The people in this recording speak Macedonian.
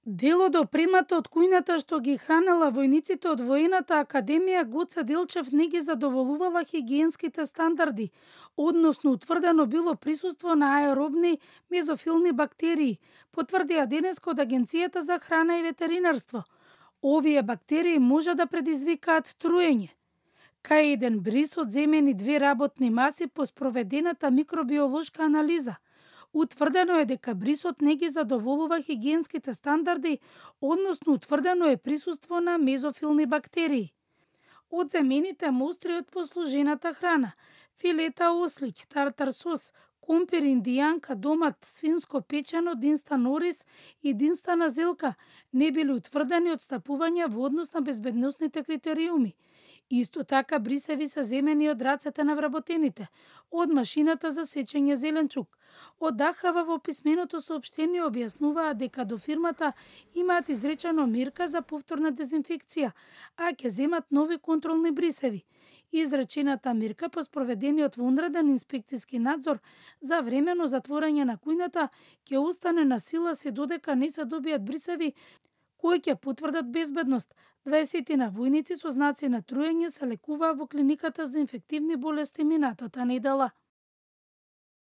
Дел од опремата од кујната што ги хранела војниците од воената академија Гоце Делчев не ги задоволувала хигиенските стандарди, односно утврдено било присуство на аеробни мезофилни бактерии, потврдија денеска од Агенцијата за храна и ветеринарство. Овие бактерии може да предизвикаат труење. Кај еден бриз од земени 2 работни маси по спроведената микробиолошка анализа, утврдено е дека брисот не ги задоволува хигиенските стандарди, односно утврдено е присуство на мезофилни бактерии. Од земените мостри од послужената храна, филета ослиќ, тартар сос, компир, индијанка, домат, свинско печено, динстан ориз и динстана зелка не биле утврдени одстапувања во однос на безбедносните критериуми. Исто така брисеви се земени од рацете на вработените, од машината за сечење зеленчук. Од ДХВ во писменото соопштение објаснуваат дека до фирмата имаат изречено мерка за повторна дезинфекција, а ќе земат нови контролни брисеви. Изречената мерка по спроведениот вонреден инспекцијски надзор за времено затворање на кујната ќе остане на сила се додека не се добијат брисеви кои ќе потврдат безбедност. 20 војници со знаци на труење се лекуваа во клиниката за инфективни болести минатата недела.